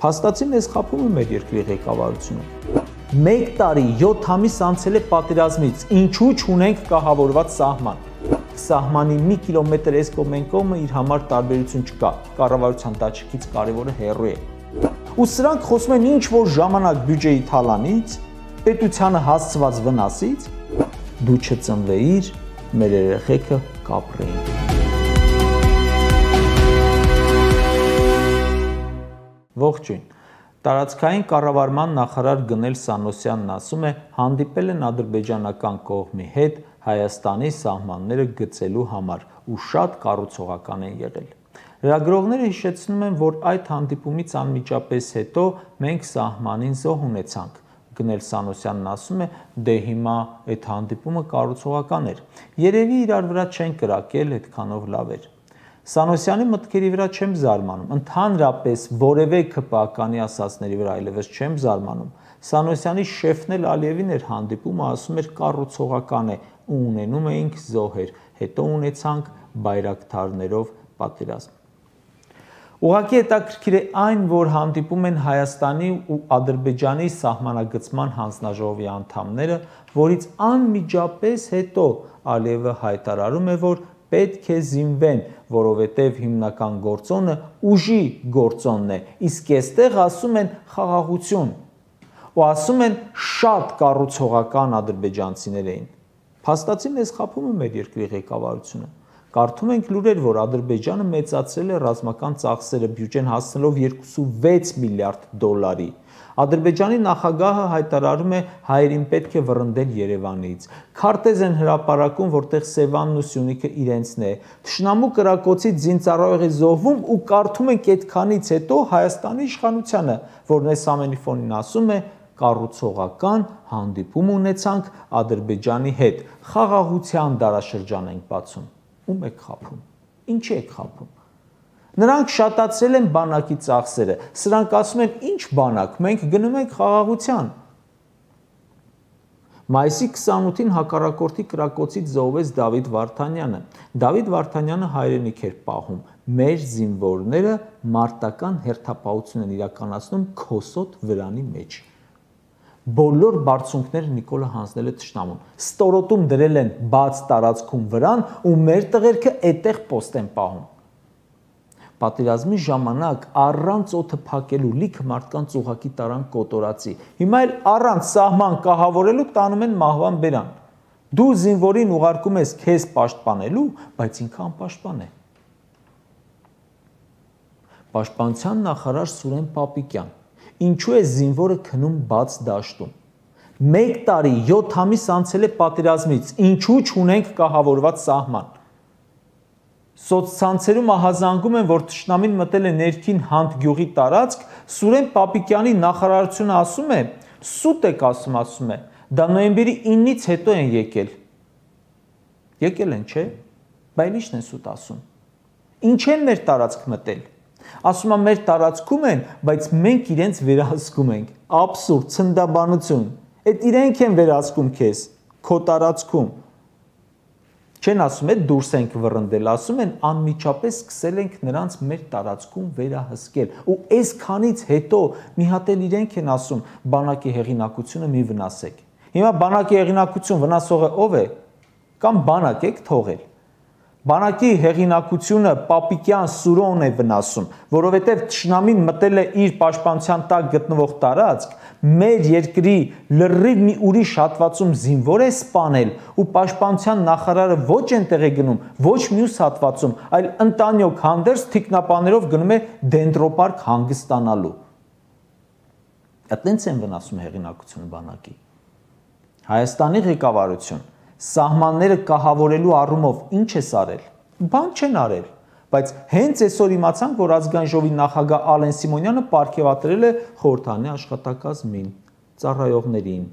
Փաստացի մեզ խաբում է մեր երկրի ղեկավարությունը։ 1 տարի 7 ամիս անցել է պատերազմից, ինչու չունենք կահավորված սահման։ Սահմանի մի կիլոմետր այս կողմ այն կողմը իր համար տարբերություն չկա, կառավարության դաշտից կարևորը հեռու է։ Ու սրանք խոսում են ինչ որ ժամանակ բյուջեի թալանից, պետությանը հասցված վնասից, դու չծնվեիր, մեր երեխեքը կապրեին։ Ողջույն։ Տարածքային կառավարման նախարար Գնել Սանոսյանն ասում է, հանդիպել են ադրբեջանական կողմի հետ Հայաստանի սահմանները գծելու համար ու շատ կառուցողական են եղել։ Լրագրողները հիշեցնում են, որ այդ հանդիպումից անմիջապես հետո մենք սահմանին զոհ ունեցանք։ Գնել Սանոսյանն ասում է, դե հիմա այդ հանդիպումը կառուցողական էր։ Երևի իրար վրա չեն կրակել, այդքանով լավ էր։ Սանոսյանի մտքերի վրա չեմ զարմանում, ընդհանրապես որևէ ԿՊԱ-կանի ասածների վրա այլևս չեմ զարմանում։ Սանոսյանի շեֆն էլ Ալիևին էր հանդիպումը, ասում էր կառուցողական է ու ունենում էինք զոհեր, հետո ունեցանք բայրակթարներով պատերազմ։ Ուղղակի հետաքրքիր է այն, որ հանդիպում են Հայաստանի ու Ադրբեջանի սահմանագծման հանձնաժողովի անդամները, որից անմիջապես հետո Ալիևը հայտարարում է, որ պետք է զինվեն, որովհետև հիմնական գործոնը ուժի գործոնն է, իսկ այստեղ ասում են խաղաղություն, ու ասում են շատ կառուցողական ադրբեջանցիներ էին։ Փաստացի մեզ խաբում է մեր երկրի ղեկավարությունը։ Կարդում ենք լուրեր, որ Ադրբեջանը մեծացրել է ռազմական ծախսերը, բյուջեն հասցնելով 26 միլիարդ դոլարի։ Ադրբեջանի նախագահը հայտարարում է հայերին պետք է վռնդել Երևանից։ Քարտեզ են հրապարակում, որտեղ Սևանն ու Սյունիքը իրենցն է։ Թշնամու կրակոցից զինծառայող է զոհվում ու կարդում ենք այդքանից հետո Հայաստանի իշխանությանը, որն այս ամենի ֆոնին ասում է կառուցողական հանդիպում ունեցանք Ադրբեջանի հետ։ Խաղաղության դարաշրջան ենք բացում։ Ում եք խաբում։ Ինչի եք խաբում։ Նրանք շատացրել են բանակի ծախսերը, սրանք ասում են ինչ բանակ, մենք գնում ենք խաղաղության։ Մայիսի 28-ին հակառակորդի կրակոցից զոհվեց Դավիթ Վարդանյանը։ Դավիթ Վարդանյանը հայրենիք էր պահում, մեր զինվորները մարտական հերթապահություն են իրականացնում Քոսոտ վրանի մեջ։ Բոլոր բարձունքները Նիկոլը հանձնել է թշնամուն։ Ստորոտում դրել են բաց տարածքում վրան ու մեր տղերքը այդտեղ պոստ են պահում։ Պատերազմի ժամանակ առանց օդը փակելու լիքը մարդկանց ուղակի տարան կոտորածի։ Հիմա էլ առանց սահման կահավորելու տանում են մահվան բերան։ Դու զինվորին ուղարկում ես քեզ պաշտպանելու, բայց ինքը անպաշտպան է։ Պաշտպանության նախարար Սուրեն Պապիկյան, ինչու է զինվորը քնում բաց դաշտում։ 1 տարի 7 ամիս անցել է պատերազմից, ինչու չունենք կահավորված սահման։ Սոցցանցերում ահազանգում են, որ թշնամին մտել է ներքին Հանդ գյուղի տարածք, Սուրեն Պապիկյանի նախարարությունը ասում է, սուտ եք ասում է, դա նոյեմբերի 9-ից հետո են եկել։ Եկել են, չէ՞, բայց ի՞նչն են սուտ ասում։ Ինչ են մեր տարածք մտել։ Ասում է մեր տարածքում են, բայց մենք իրենց վերահսկում ենք։ Աբսուրդ, ցնդաբանություն։ Այդ իրենք են վերահսկում քեզ, քո տարածքում։ Չեն ասում է դուրս ենք վռնդել, ասում են անմիջապես սկսել ենք նրանց մեր տարածքում վերահսկել։ Ու այսքանից հետո մի հատ էլ իրենք են ասում բանակի հեղինակությունը մի վնասեք։ Հիմա բանակի հեղինակություն վնասողը ով է։ Կամ բանակ եք թողել։ Բանակի հեղինակությունը Պապիկյան Սուրոն է վնասում, որովհետև թշնամին մտել է իր պաշտպանության տակ գտնվող տարածք, մեր երկրի լրիվ մի ուրիշ հատվածում զինվոր է սպանել ու պաշտպանության նախարարը ոչ այնտեղ է գնում, ոչ մյուս հատվածում, այլ ընտանյոք հանդերձ թիկնապաներով գնում է դենտրոպարկ հանգստանալու։ Այդտենց են վնասում հեղինակությունը բանակի։ Հայաստանի ղեկավարություն սահմանները կահավորելու առումով ինչ է արել։ Բան չեն արել, բայց հենց այսօր իմացանք, որ ազգային ժողովի նախագահ Ալեն Սիմոնյանը պարգևատրել է խորհրդանի աշխատակազմին, ծառայողներին։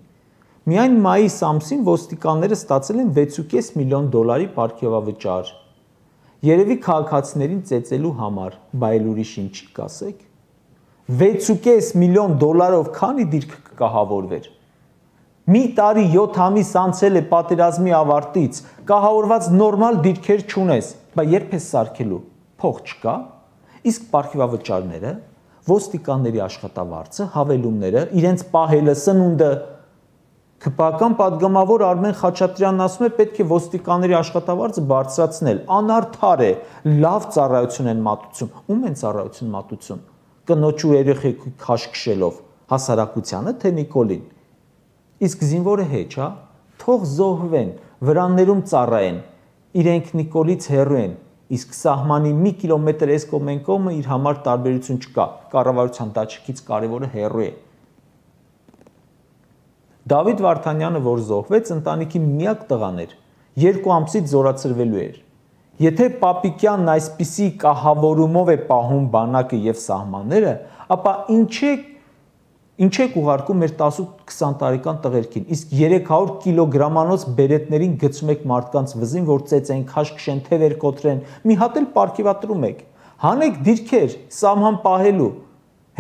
Միայն մայիս ամսին ոստիկանները ստացել են 6.5 միլիոն դոլարի պարգևավճար։ Երևի քաղաքացիներին ծեծելու համար, բայց ուրիշ ինչի կասեք։ 6.5 միլիոն դոլարով քանի դիրք կկահավորվեր։ Մի տարի 7 ամիս անցել է պատերազմի ավարտից, կահավորված նորմալ դիրքեր չունես, բայց երբ ես սարքելու, փող չկա, իսկ պարգևավճարները, ոստիկանների աշխատավարձը, հավելումները, իրենց պահելը, սնունդը։ ՔՊԱ-կան պատգամավոր Արմեն Խաչատրյանն ասում է, պետք է ոստիկանների աշխատավարձը բարձրացնել, անարդար է, լավ ծառայություն են մատուցում։ Ում են ծառայություն մատուցում։ Կնոջ ու երեխեքի քաշքշելով, հասարակությանը թե Նիկոլին։ Իսկ զինվորը հեչ, հա, թող զոհվեն, վրաններում ծառայեն, իրենք Նիկոլից հեռու են, իսկ սահմանի մի կիլոմետր այս կողմ այն կողմը իր համար տարբերություն չկա, կառավարության դաշինքից կարևորը հեռու է։ Դավիթ Վարդանյանը, որ զոհվեց, ընտանիքի միակ տղան էր, 2 ամսից զորացրվելու էր։ Եթե Պապիկյանն այսպիսի կահավորումով է պահում բանակը եւ սահմանները, ապա ինչ եք ուղարկում մեր 18-20 տարեկան տղերքին, իսկ 300 կիլոգրամանոց բերետներին գցում եք մարդկանց վզին, որ ծեծեն, քաշքշեն, թևեր կոտրեն, մի հատ էլ պարգևատրում եք, հանեք դիրքեր, սահման պահելու,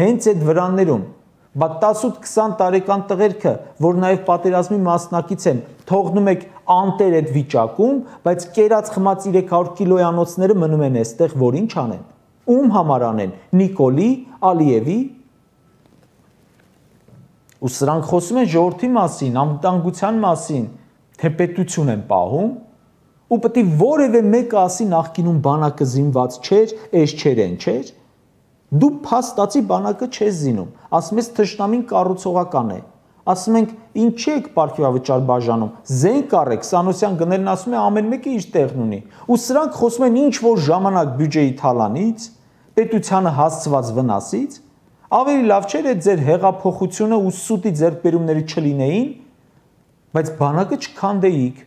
հենց այդ վրաններում, բա 18-20 տարեկան տղերքը, որ նաև պատերազմի մասնակից են, թողնում եք անտեր այդ վիճակում, բայց կերած խմած 300 կիլոյանոցները մնում են այստեղ, որ ինչ անեն, ում համար անեն, Նիկոլի, Ալիևի։ Ու սրանք խոսում են ժողովրդի մասին, անվտանգության մասին, թե պետություն են պահում, ու պետք է որևէ մեկը ասի նախկինում բանակը զինված չէր, այս չէր, այն չէր։ Դու փաստացի բանակը չես զինում, ասում ես թշնամին կառուցողական է, ասում ենք ինչ եք պարգևավճար բաժանում, զենք առեք, Սանոսյան գնելն ասում է ամեն մեկը իր տեղն ունի, ու սրանք խոսում են ինչ որ ժամանակ բյուջեի թալանից, պետությանը հասցված վնասից, ավելի լավ չէր այդ ձեր հեղափոխությունը ու սուտի ձեռքբերումները չլինեին, բայց բանակը չքանդեիք,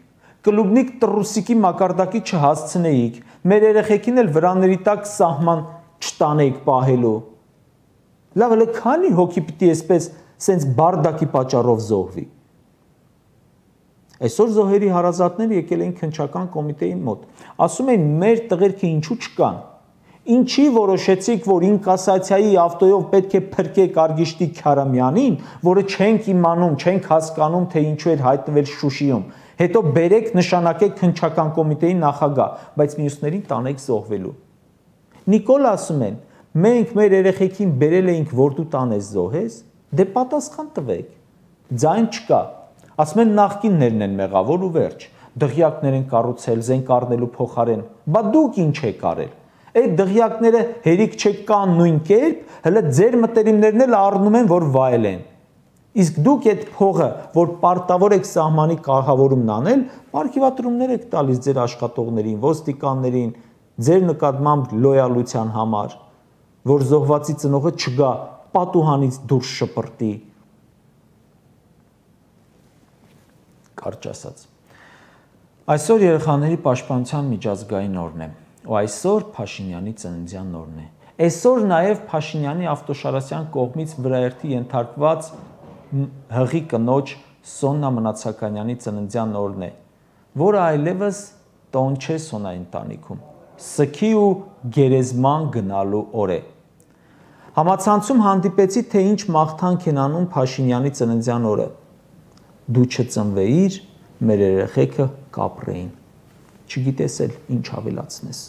կլուբնիկ տրուսիկի մակարդակի չհասցնեիք, մեր երեխեքին էլ վրաների տակ սահման չտանեիք պահելու։ Լավ, հələ քանի հոգի պիտի այսպես սենց բարդակի պատճառով զոհվի։ Այսօր զոհերի հարազատները եկել էին քննչական կոմիտեի մոտ, ասում են մեր տղերքը ինչու չկան։ Ինչի որոշեցիք, որ ինկասացիայի ավտոյով պետք է փրկեք Արգիշտի Քարամյանին, որը չենք իմանում, չենք հասկանում, թե ինչու էր հայտնվել Շուշիում։ Հետո բերեք նշանակեք քննչական կոմիտեի նախագահ, բայց մյուսներին տանեք զոհվելու։ Նիկոլ ասում են, մենք մեր երեխեքին բերել էինք, որ դու տանես զոհես, դե պատասխան տվեք։ Ձայն չկա։ Ասում են նախկիններն են մեղավոր ու վերջ։ Դղյակներ են կառուցել, զենք առնելու փոխարեն։ Բա դուք ինչ եք արել։ Այդ դղյակները հերիք չկան նույն կերպ, հələ ձեր մտերիմներն էլ առնում են, որ վայելեն։ Իսկ դուք այդ փողը, որ պարտավոր եք սահմանի կարգավորումն անել, պարգևատրումներ եք տալիս ձեր աշխատողներին, ոստիկաններին, ձեր նկատմամբ լոյալության համար, որ զոհվածի ծնողը չգա պատուհանից դուրս շպրտի։ Կարճ ասած։ Այսօր երեխաների պաշտպանության միջազգային օրն է։ Ու այսօր Փաշինյանի ծննդյան օրն է։ Այսօր նաև Փաշինյանի Ավտոշարասյան կողմից վրաերթի ենթարկված հղի կնոջ Սոննա Մնացականյանի ծննդյան օրն է, որը այլևս տոն չէ Սոնայի ընտանիքում։ Սքի ու գերեզման գնալու օր է։ Համացանցում հանդիպեցի, թե ինչ մաղթանք են անում Փաշինյանի ծննդյան օրը։ Դու չծնվեիր, մեր երեխեքը կապրեին։ Չգիտես էլ ինչ ավելացնես։